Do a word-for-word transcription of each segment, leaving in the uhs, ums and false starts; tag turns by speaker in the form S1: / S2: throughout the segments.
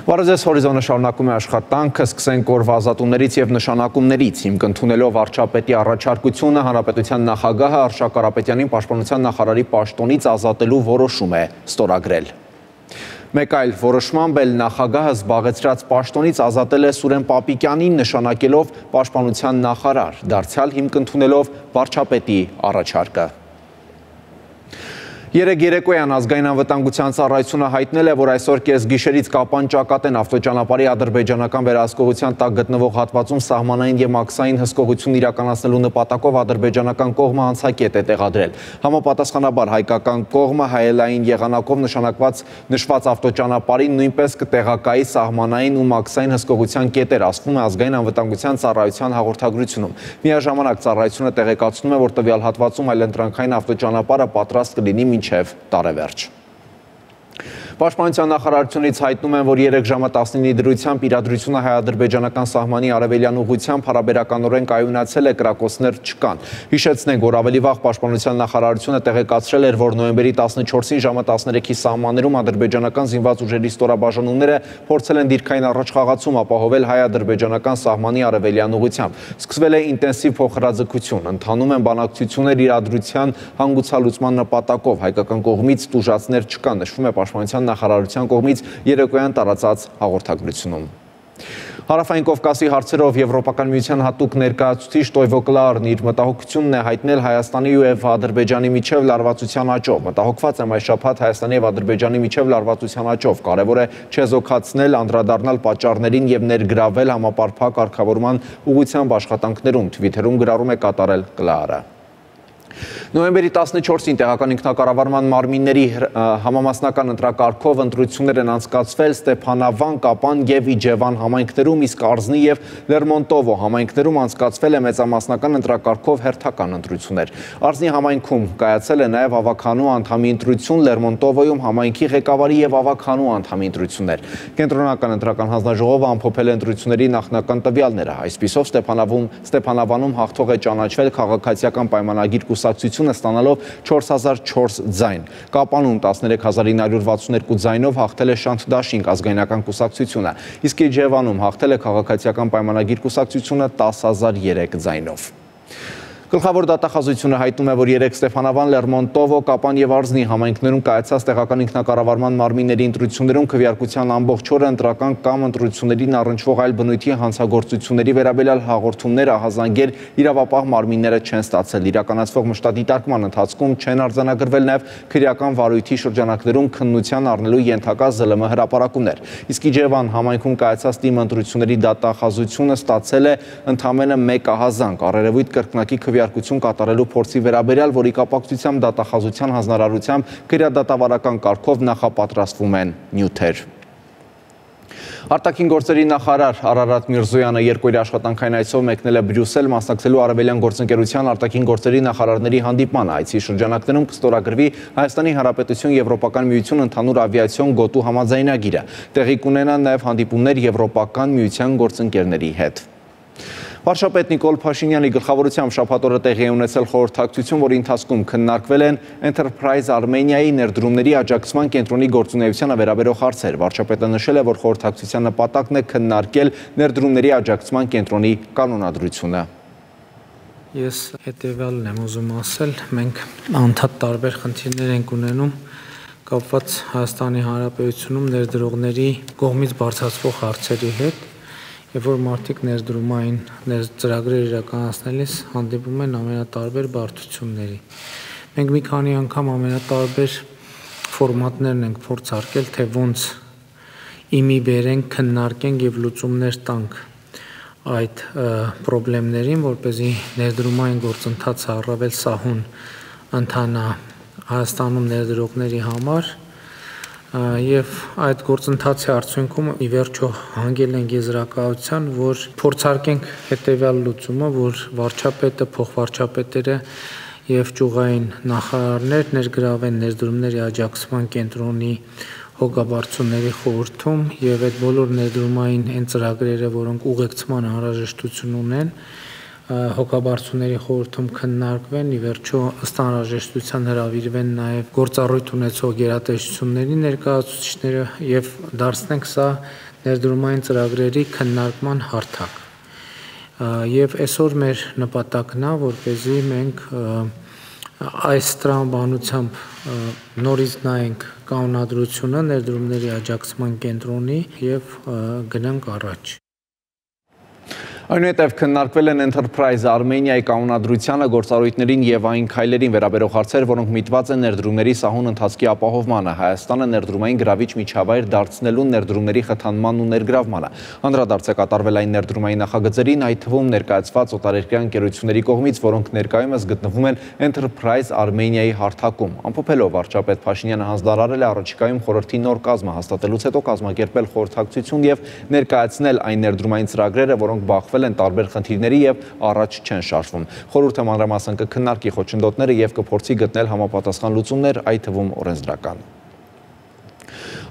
S1: Վարեզես հորիզոնը շարունակում է աշխատանքը, սկսենք օրվա ազատումներից եւ նշանակումներից, հիմք ընդունելով վարչապետի առաջարկությունը, հանրապետության նախագահը Արշակ Կարապետյանին պաշտպանության նախարարի պաշտոնից ազատելու որոշում է ստորագրել։ Մեկ այլ որոշմամբ էլ նախագահը զբաղեցրած պաշտոնից ազատել է Սուրեն Պապիկյանին, նշանակելով պաշտպանության նախարար, դարձյալ հիմք ընդունելով վարչապետի առաջարկը։ Երեկ երեկոյան ազգային անվտանգության ծառայությունը հայտնել է, որ այսօր կեսգիշերից Կապան Ճակատեն ավտոճանապարհի ադրբեջանական վերահսկողության տակ գտնվող հատվածում սահմանային եւ մաքսային հսկողություն իրականացնելու նպատակով ադրբեջանական կողմը անցակետ է տեղադրել։ Համապատասխանաբար հայկական կողմը հայելային եղանակով նշանակված նշված ավտոճանապարհին նույնպես կտեղակայի սահմանային ու մաքսային հսկողության կետեր, ասվում է ազգային անվտանգության ծառայության հաղորդագրությունում։ Միաժամանակ ծառայությունը տեղեկացնում է, որ տվյալ հատվածում այլընտրանքային ավտոճանապարհը պատրաստ կլինի մինչև տարեվերջ։ Պաշտպանության նախարարությունից հայտնում են, որ երեք ժամը տասնինի դրությամբ իրադրությունը հայ-ադրբեջանական սահմանի արևելյան ուղղությամբ հարաբերականորեն կայունացել է, կրակոցներ չկան։ Հիշեցնենք, որ ավելի վաղ պաշտպանության նախարարությունը տեղեկացրել էր, որ նոյեմբերի տասնչորսին ժամը տասներեքի սահմաններում ադրբեջանական զինված ուժերի ստորաբաժանումները փորձել են դիրքային առաջխաղացում ապահովել հայ-ադրբեջանական սահմանի արևելյան ուղղությամբ։ Սկսվել է ինտենսիվ փոխհրաձգություն, ընթանում են բանակցություններ իրադրության հանգուցալուծման նպատակով, հայկական կողմից տուժածներ չկան, նշվում է պաշտպանության նախարարության կողմից երեկոյան տարածած հաղորդագրությունում։ Հարավային Կովկասի հարցերով Եվրոպական միության հատուկ ներկայացուցիչ Տոյվո Կլարն իր մտահոգությունն է հայտնել Հայաստանի եւ Ադրբեջանի միջև լարվածության աճով։ Մտահոգված եմ այս շաբաթ Հայաստանի եւ Ադրբեջանի միջև լարվածության աճով։ Կարևոր է չեզոքացնել, անդրադառնալ պատճառներին եւ ներգրավել համապարփակ կարգավորման ուղղությամբ աշխատանքներում, Թվիթերում գրառում է կատարել Կլարը։ Նոյեմբերի տասնչորսին տեղական ինքնակառավարման մարմինների համամասնական ընտրակարգով ընտրություններ են անցկացվել Ստեփանավան, Կապան եւ Իջևան համայնքներում, իսկ Արզնի եւ Լերմոնտովո համայնքներում անցկացվել է մեծամասնական ընտրակարգով հերթական ընտրություններ։ Արզնի համայնքում կայացել է նաեւ ավականու անդամի ընտրություն, Լերմոնտովոյում համայնքի ղեկավարի եւ ավականու անդամի ընտրություններ։ Կենտրոնական ընտրական հանձնաժողովը ամփոփել է ընտրությունների նախնական տվյալները։ Այսպիսով Ստեփանավում Ստեփանավանում հաղթող է ճանաչվել քաղաքացիական պայմանագիր կուսակցությունը ստանալով չորս հազար չորս ձայն։ Կապանում տասներեք հազար ինը հարյուր վաթսուն երկու ձայնով հաղթել է Շանթ Դաշինք ազգայնական կուսակցությունը, իսկ Իջևանում հաղթել է քաղաքացիական պայմանագիր կուսակցությունը տասը հազար երեք ձայնով։ Գլխավոր դատախազությունը հայտնում է, որ երեք Ստեփանավան, Լերմոնտովո, Կապան եւ Արզնի համայնքներում կայացած տեղական ինքնակառավարման մարմինների ընտրություններում քվեարկության ամբողջ օրը ընտրական կամ ընտրություններին առնչվող այլ բնույթի հանցագործությունների վերաբերյալ հաղորդումներ ահազանգեր իրավապահ մարմինները չեն ստացել։ Իրականացվող մշտադիտարկման ընթացքում չեն արձանագրվել նաեւ քրեական վարույթի շրջանակներում քննության առնելու ենթակա զլ մ հրապարակումներ։ Իսկ Իջևան համայնքում կայացած թիմ ընտրությունների դատախազությունը ստացել է ընդամենը մեկ ահազանգ առերևույթ կրկնակի քվեարկություն կատարելու փորձի վերաբերյալ, որի կապակցությամբ դատախազության հանձնարարությամբ քրեադատավարական կարգով նախապատրաստվում են նյութեր։ Արտաքին գործերի նախարար Արարատ Միրզոյանը երկօրյա աշխատանքային այցով մեկնել է Բրյուսել, մասնակցելու արևելյան գործընկերության արտաքին գործերի նախարարների հանդիպմանը։ Այցի շրջանակներում կստորագրվի Հայաստանի Հանրապետություն Եվրոպական միություն ընդհանուր ավիացիոն գոտու համաձայնագիրը։ Տեղի կունենան նաև հանդիպումներ Եվրոպական միության գործընկերների հետ։ Վարչապետ Նիկոլ Փաշինյանի գլխավորությամբ շաբաթ օրը տեղի է ունեցել խորհրդակցություն, որի ընթացքում քննարկվել են Enterprise Armenia-ի ներդրումների աջակցման կենտրոնի գործունեությանը վերաբերող հարցեր։ Վարչապետը նշել է, որ խորհրդակցության նպատակն է քննարկել ներդրումների աջակցման կենտրոնի կանոնադրությունը։
S2: Ես հետևյալն եմ ուզում ասել, մենք անդադ տարբեր խնդիրներ ենք ունենում կապված Հայաստանի Հանրապետությունում ներդրողների կողմից բարձրացվող հարցերի հետ։ Եվ որ մարդիկ ներդրումային ծրագրեր իրականացնելիս հանդիպում են ամենատարբեր բարդությունների։ Մենք մի քանի անգամ ամենատարբեր ֆորմատներն ենք փորձարկել, թե ոնց իմի բերենք, քննարկենք եւ լուծումներ տանք այդ խնդիրներին, որպեսզի ներդրումային գործընթացը առավել սահուն ընթանա Հայաստանում ներդրողների համար։ Եվ այդ գործընթացի արդյունքում ի վերջո հանգել ենք եզրակացության, որ փորձարկենք հետևյալ լուծումը, որ վարչապետը, փոխվարչապետերը եւ ճյուղային նախարարներ ներգրավեն ներդրումների աջակցման կենտրոնի հոգաբարձությունների խորհրդում եւ այդ բոլոր ներդրումային այն ծրագրերը, որոնք ուղեկցման անհրաժեշտություն ունեն, հոգաբարձությունների խորհրդում քննարկվեն, ի վերջո ըստ անհրաժեշտության հրավիրվեն նաև գործառույթ ունեցող գերատեսչությունների ներկայացուցիչները եւ դարձնենք սա ներդրումային ծրագրերի քննարկման հարթակ։ Եվ այսօր մեր նպատակն է, որպեսզի մենք այս տրամաբանությամբ նորից նայենք կանոնադրությունը ներդրումների աջակցման կենտրոնի եւ գնանք առաջ։
S1: Այնուհետև քննարկվել են Enterprise Armenia-ի կանոնադրությանը, գործառույթներին եւ այն քայլերին վերաբերող հարցեր, որոնք միտված են ներդրումների սահուն ընթացքի ապահովմանը, Հայաստանը ներդրումային գրավիչ միջավայր դարձնելուն, ներդրումների խթանմանն ու ներգրավմանը։ Անդրադարձ է կատարվել այն ներդրումային նախագծերին, այդ թվում ներկայացված օտարերկրյա ընկերությունների կողմից, որոնք ներկայումս գտնվում են Enterprise Armenia-ի հարթակում։ Ամփոփելով վարչապետ Փաշինյանը հանձնարարել է առաջիկայում խորհրդի նոր կազմ հաստատելուց հետո կազմակերպել խորհրդակցություն եւ ներկայացնել այն ներդրումային ծրագրերը, որոնք բախվել են տարբեր խնդիրների եւ առաջ չեն շարժվում։ Խորհուրդը մանրամասն կքննարկի խոչընդոտները եւ կփորձի գտնել համապատասխան լուծումներ, այդ թվում օրենսդրական։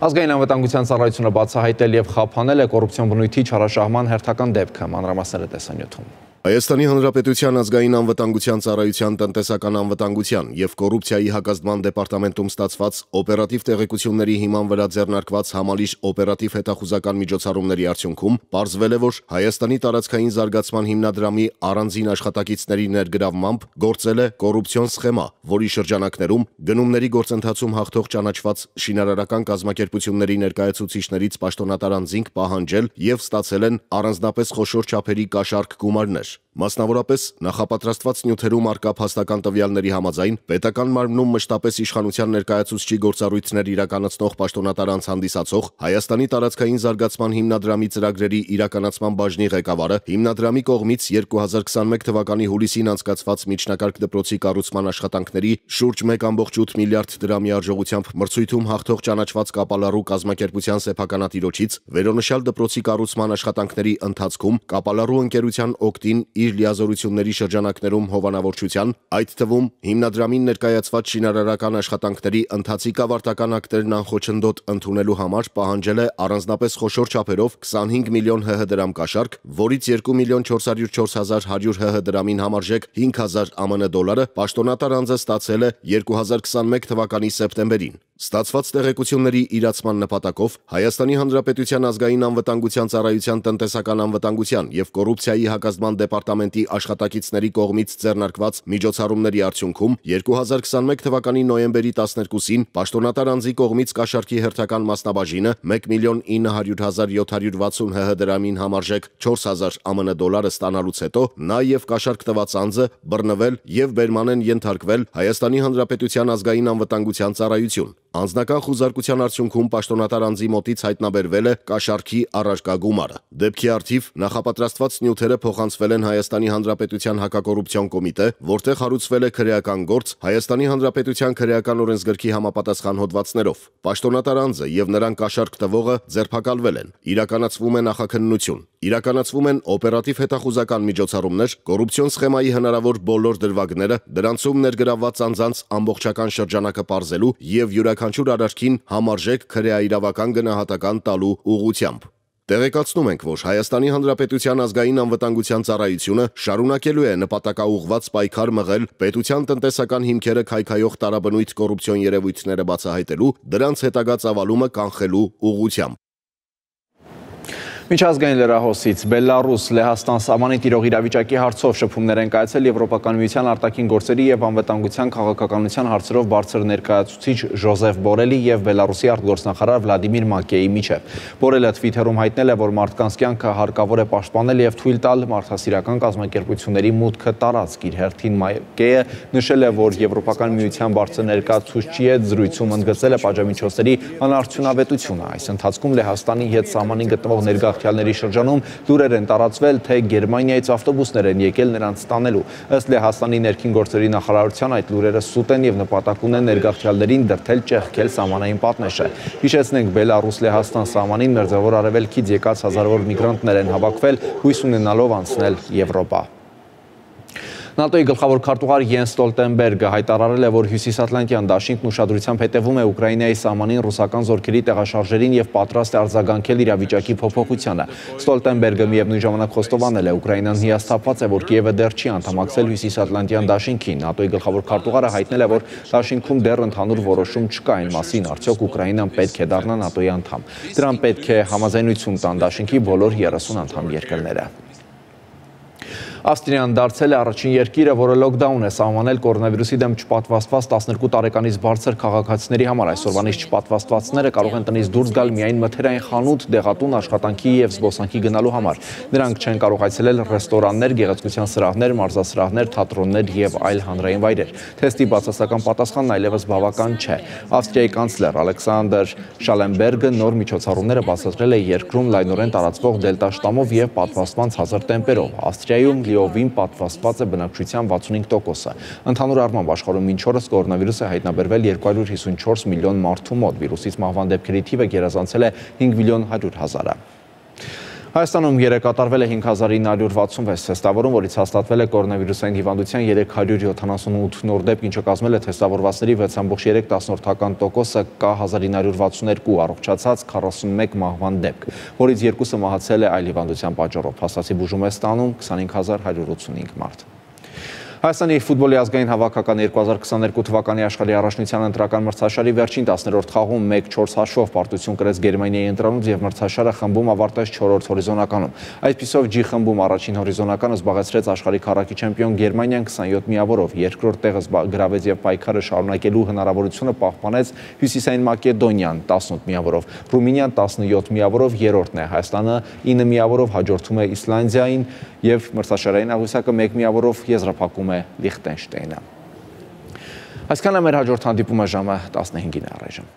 S1: Ազգային անվտանգության ծառայությունը բացահայտել եւ խափանել է կոռուպցիոն բնույթի չարաշահման հերթական դեպքը, մանրամասները տեսանյութում։
S3: Հայաստանի Հանրապետության ազգային անվտանգության ծառայության տնտեսական անվտանգության եւ կոռուպցիայի հակազդման դեպարտամենտում ստացված օպերատիվ տեղեկությունների հիման վրա ձեռնարկված համալիր օպերատիվ հետախուզական միջոցառումների արդյունքում պարզվել է, որ Հայաստանի տարածքային զարգացման հիմնադրամի առանձին աշխատակիցների ներգրավմամբ գործել է կոռուպցիոն սխեմա, որի շրջանակներում գնումների գործընթացում հաղթող ճանաչված շինարարական կազմակերպությունների ներկայացուցիչներից պաշտոնատար անձինք պահանջել եւ ստացել են առանձնապես խոշոր չափերի կաշառք գումարներ։ Մասնավորապես նախապատրաստված նյութերում արկա փաստական տվյալների համաձայն պետական մարմնում մշտապես իշխանության ներկայացուցչի գործառույթներ իրականացնող պաշտոնատար անձ հանդիսացող Հայաստանի տարածքային զարգացման հիմնադրամի ծրագրերի իրականացման բաժնի ղեկավարը հիմնադրամի կողմից երկու հազար քսաներկու թվականի հուլիսին անցկացված միջնակարգ դպրոցի կառուցման աշխատանքների շուրջ մեկ կόμma ութ միլիարդ դրամի արժողությամբ մրցույթում հաղթող ճանաչված Կապալառու կազմակերպության սեփականատիրոջից վերոնշյալ դպրոցի կառուցման աշխատանքների ընթացքում Կապալառու ընկերության օգտին իր լիազորությունների շրջանակներում հովանավորչության, այդ թվում հիմնադրամին ներկայացված շինարարական աշխատանքների ընթացիկ ավարտական ակտերն անխոչնդոտ ընդունելու համար պահանջել է առանձնապես խոշոր չափերով քսանհինգ միլիոն հ հ դրամ կաշառք, որից երկու միլիոն չորս հարյուր չորս հազար հարյուր հ հ դրամին համարժեք հինգ հազար ա մն դոլարը պաշտոնատար անձը ստացել է երկու հազար քսաներկու թվականի սեպտեմբերին։ Ստացված տեղեկությունների իրացման նպատակով Հայաստանի Հանրապետության ազգային անվտանգության ծառայության տնտեսական անվտանգության եւ կոռուպցիայի հակազդման դեպարտամենտի աշխատակիցների կողմից ձեռնարկված միջոցառումների արդյունքում երկու հազար քսաներկու թվականի նոյեմբերի տասներկուսին պաշտոնատար անձի կողմից կաշառքի հերթական մասնաբաժինը մեկ միլիոն ինը հարյուր հազար յոթ հարյուր վաթսուն հ հ դրամին համարժեք չորս հազար ա մն դոլարը ստանալուց հետո նա եւ կաշառք տված անձը բռնվել եւ բերման են ենթարկվել Հայաստանի Հանրապետության ազգային անվտանգության ծառայություն։ Անձնական խուզարկության արդյունքում պաշտոնատար անձի մոտից հայտնաբերվել է կաշառքի առարկա գումարը։ Դեպքի առթիվ նախապատրաստված նյութերը փոխանցվել են Հայաստանի Հանրապետության հակակոռուպցիոն կոմիտե, որտեղ հարուցվել է քրեական գործ Հայաստանի Հանրապետության քրեական օրենսգրքի համապատասխան հոդվածներով։ Պաշտոնատար անձը եւ նրան կաշառք տվողը ձերբակալվել են։ Իրականացվում է նախաքննություն։ Իրականացվում են օպերատիվ հետախուզական միջոցառումներ, կոռուպցիոն սխեմայի հնարավոր բոլոր դրվագները, դրանցում ներգրավված անձանց ամբողջական շրջանակը պարզելու եւ յուրաքանչյուր արարքին համարժեք քրեաիրավական գնահատական տալու ուղղությամբ։ Տեղեկացնում ենք, որ Հայաստանի Հանրապետության ազգային անվտանգության ծառայությունը շարունակելու է նպատակաուղղված պայքար մղել պետության տնտեսական հիմքերը քայքայող տարաբնույթ կոռուպցիոն երևույթները բացահայտելու, դրանց հետագա ծավալումը կանխելու ուղղությամբ։
S1: Միջազգային լրահոսից Բելարուս Լեհաստան սահմանի տիրող իրավիճակի հարցով շփումներ են կայացել Եվրոպական միության արտաքին գործերի եւ անվտանգության քաղաքականության հարցերով բարձր ներկայացուցիչ Ժոզեֆ Բորելի եւ Բելարուսի արտգործնախարար Վլադիմիր Մակեի միջև։ Բորելը Twitter-ում հայտնել է, որ մարդկանց կյանքը հարկավոր է պաշտպանել եւ թույլ տալ մարդասիրական կազմակերպությունների մուտքը տարածք։ Իր հերթին Մակեը նշել է, որ Եվրոպական միության բարձր ներկայացուցչի հետ զրույցում ընդգծել է պատժամիջոցների անարդյունավետությունը։ Այս ընթացքում Լեհաստանի հետ սահմանին գտնվող ներգաղթ Յալների շրջանում լուրեր են տարածվել, թե Գերմանիայից ավտոբուսներ են եկել նրանց տանելու։ Ըստ Լեհաստանի ներքին գործերի նախարարության այդ լուրերը սուտ են եւ նպատակ ունեն ներգաղթյալներին դրդել ճեղքել սահմանային պատնեշը։ Հիշեցնենք, Բելարուս-Լեհաստան սահմանին մերձավոր արևելքից եկած հազարավոր միգրանտներ են հավաքվել, հույս ունենալով անցնել Եվրոպա։ ՆԱՏՕ-ի գլխավոր քարտուղար Յենս Ստոլտենբերգը հայտարարել է, որ Հյուսիսատլանտյան դաշինքն ուշադրությամբ հետևում է Ուկրաինայի սահմանին ռուսական զորքերի տեղաշարժերին եւ պատրաստ է արձագանքել իրավիճակի փոփոխությանը։ Ստոլտենբերգը միևնույն ժամանակ խոստովանել է, Ուկրաինան հիասթափված է, որ Կիևը դեռ չի անդամակցել Հյուսիսատլանտյան դաշինքին։ ՆԱՏՕ-ի գլխավոր քարտուղարը հայտնել է, որ դաշինքում դեռ ընդհանուր որոշում չկա այն մասին, արդյոք Ուկրաինան պետք է դառնա ՆԱՏՕ-ի անդամ։ Դրան պետք է համաձայնություն տան դաշինքի բոլոր երեսուն անդամ երկրները։ Ավստրիան դարձել է առաջին երկիրը, որը լոքդաուն է սահմանել կորոնավիրուսի դեմ չպատվաստված տասներկու տարեկանից բարձր քաղաքացիների համար։ Այսօրվանից չպատվաստվածները կարող են տնից դուրս գալ միայն մթերային խանութ, դեղատուն, աշխատանքի եւ զբոսանքի գնալու համար։ Նրանք չեն կարող այցելել ռեստորաններ, գեղեցկության սրահներ, մարզասրահներ, թատրոններ եւ այլ հանրային վայրեր։ Թեստի բացասական պատասխանն այլևս բավական չէ։ Ավստրիայի կանցլեր Ալեքսանդր Շալենբերգը նոր միջոցառումները բացատրել է երկրում լայնորեն տարածվող դելտա շտամով եւ պատվաստման ցածր տեմպերով։ Ավստրիայում լիովին պատվաստված է բնակչության վաթսունհինգ տոկոսը։ Ընդհանուր առմամբ աշխարհում մինչ օրս կորոնավիրուսը հայտնաբերվել երկու հարյուր հիսունչորս միլիոն մարդու մոտ։ Վիրուսից մահվան դեպքերի թիվը գերազանցել է հինգ միլիոն հարյուր հազարը։ Հայաստանում երեկ կատարվել է հինգ հազար ինը հարյուր վաթսունվեց թեստավորում, որից հաստատվել է կորոնավիրուսային հիվանդության երեք հարյուր յոթանասունութ նոր դեպք, ինչը կազմել է թեստավորվածների վեց կόμμα երեք տոկոսը, կա հազար ինը հարյուր վաթսունյոթ առողջացած, քառասունմեկ մահվան դեպք, որից երկուսը մահացել է այլ հիվանդության պատճառով։ Փաստացի բուժում է ստանում քսանհինգ հազար հարյուր ութսունհինգ մարդ։ Հայաստանի ֆուտբոլի ազգային հավաքական երկու հազար քսաներկու թվականի աշխարհի առաջնության ընտրական մրցաշարի վերջին տասներորդ խաղում մեկ չորս հաշվով պարտություն կրեց Գերմանիայի ընտրանուց եւ մրցաշարը խմբում ավարտեց չորրորդ հորիզոնականում։ Այսպիսով Ջի խմբում առաջին հորիզոնականը զբաղեցրեց աշխարհի քառակի չեմպիոն Գերմանիան քսանյոթ միավորով, երկրորդ տեղը գրավեց եւ պայքարը շարունակելու հնարավորությունը պահպանեց Հյուսիսային Մակեդոնիան տասնութ միավորով, Ռումինիան տասնյոթ միավորով երրորդն է, Հայաստանը ինը միավորով հաջորդում է Իսլանդիային եւ մրցաշարային աղյուսակը մեկ միավորով եզրափակում է Լիխտենշտեյնը։ Այսքանը մեր հաջորդ հանդիպումը ժամը տասնհինգին է առայժմ։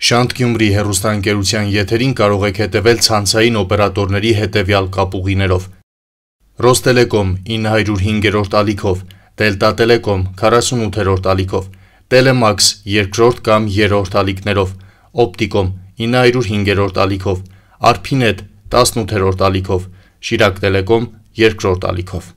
S4: Շանթ Գյումրի հեռուստաընկերության եթերին կարող եք հետևել ցանցային օպերատորների հետևյալ կապուղիներով. Ռոստելեկոմ ինը հարյուր հինգերորդ ալիքով, Դելտա Տելեկոմ քառասունութերորդ ալիքով, Տելեմաքս երկրորդ կամ երրորդ ալիքներով, Օպտիկոմ ինը հարյուր հինգերորդ ալիքով, Արփինետ տասնութերորդ ալիքով, Շիրակ Տելեկոմ երկրորդ ալիքով։